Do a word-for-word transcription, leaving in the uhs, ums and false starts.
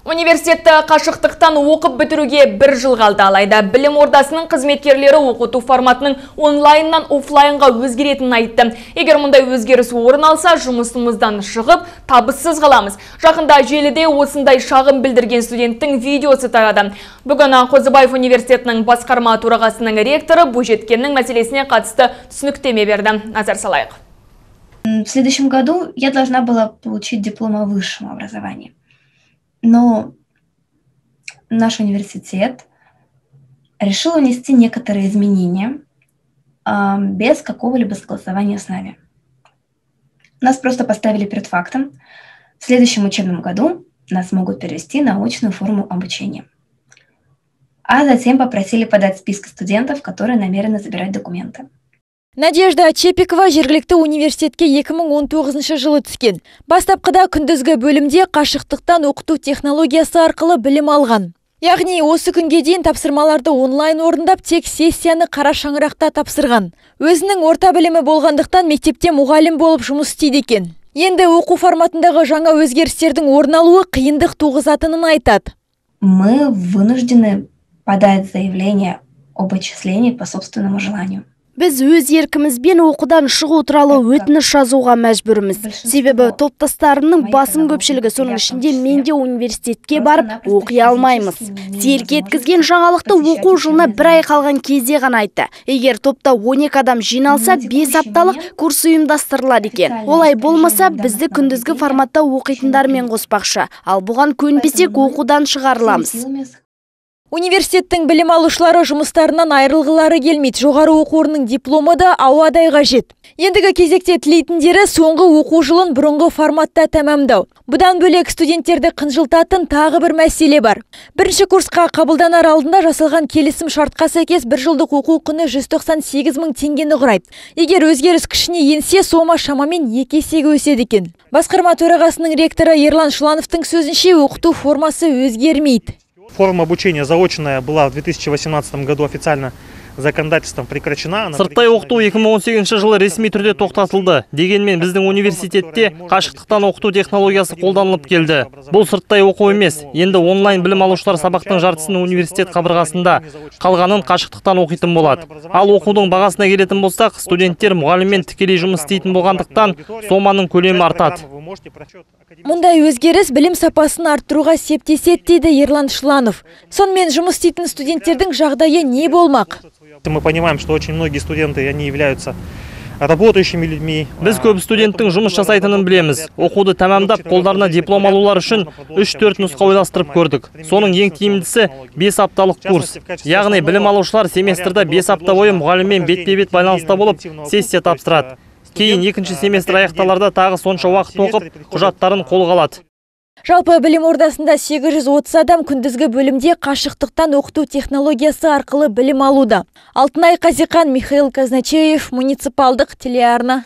Университетті қашықтықтан оқып бітіруге бір жыл қалды, алайда білім ордасының қызметкерлері оқыту форматының онлайннан офлайнға өзгеретінін айтты. Егер мұндай өзгеріс орын алса, жұмысымыздан шығып, табыссыз қаламыз. Жақында желіде осындай шағым білдірген студенттің видеосы тарады. Бүгін Қозыбаев университетінің басқарма төрағасының ректоры бойжеткеннің мәселесіне қатысты түсініктеме берді. Назар салайық. В следующем году я должна была получить диплом о высшем образовании. Но наш университет решил внести некоторые изменения э, без какого-либо согласования с нами. Нас просто поставили перед фактом. В следующем учебном году нас могут перевести на очную форму обучения. А затем попросили подать списки студентов, которые намерены забирать документы. Надежда Чепикова жергілікті университетке екі мың он тоғызыншы жылы түскен. Бастапқыда күндізгі бөлімде қашықтықтан оқыту технологиясы арқылы білім алған. Яғни осы күнге дейін тапсырмаларды онлайн орындап, тек сессияны қара шаңырақта тапсырған. Өзінің орта білімі болғандықтан мектепте мұғалім болып жұмыс істейді екен. Енді оқу форматындағы жаңа өзгерістердің орын алуы қиындық туғызатынын айтады. Мы вынуждены подать заявление об отчислении по собственному желанию. Біз өз еркімізбен оқудан шығу туралы өтініш жазуға мәжбүрміз. Себебі топтастарымның басым көпшілігі, соның ішінде мен де университетке барып оқи алмаймыз. Селк еткізген жаңалықты оқу жылына бір ай қалған кезде ғана айтты. Егер топта он екі адам жиналса, бес апталық курс ұйымдастырылады екен. Олай болмаса, бізді күндізгі форматта оқитындармен қоспақшы. Ал бұған көнбесек, оқудан шығарыламыз. Университеттің білім алушылары жұмыстарынан айырылғылары келмейді. Жоғары оқу орнының дипломы да ауадай қажет. Ендігі кезекте тілейтіндері соңғы оқу жылын бұрынғы форматта тәмамдау. Бұдан бөлек студенттерді қынжылтатын тағы бір мәселе бар. Бірінші курсқа қабылданар алдында жасалған келісім шартқа сәйкес бір жылдық оқу құны жүз тоқсан сегіз мың теңгені құрайды. Егер өзгеріс күшіне енсе, сома шамамен екі есеге өседі екен. Басқарма төрағасының ректоры Ерлан Шылановтың сөзінше, оқыту формасы өзгермейді. Форма обучения заочная была в две тысячи восемнадцатом году официально законодательством прекращена. Сырттай оқыту екі мың он сегізінші жылы ресми түрде тоқтатылды. Дегенмен біздің университетте қашықтықтан оқыту технологиясы қолданылып келді. Бұл сырттай оқу емес. Енді онлайн білім алушылар сабақтың жартысын университет қабырғасында, қалғанын қашықтықтан оқитын болады. Ал оқудың бағасына келетін болсақ, студенттер мұғаліммен тікелей жұмыс істейтін болғандықтан соманың көлемі артады. Мұндай өзгеріс білім сапасын арттыруға септеседі дейді Ерлан Шыланов. Сонымен жұмыс істейтін студенттердің жағдайы не болмақ? Мы понимаем, что очень многие студенты, они являются работающими людьми. Біз көп студенттің жұмыс жасайтынын білеміз. Оқуды тәмамдап, қолдарына диплом алулар үшін үш төрт нұсқа ойластырып көрдік. Соның ең тиімдісі бес апталық курс. Яғни білім алушылар семестрда бес апта бойы мұғаліммен бетпе-бет байланыста болып, сессия тапсырады. Кейін екінші семестр аяқталарда тағы сонша уақыт оқып, құжаттарын қолға алады. Жалпы білім ордасында сегіз жүз отыз адам күндізгі бөлімде қашықтықтан оқыту технологиясы арқылы білім алуда. Алтынай Қазиқан, Михаил Казначеев, муниципалдық телеарна.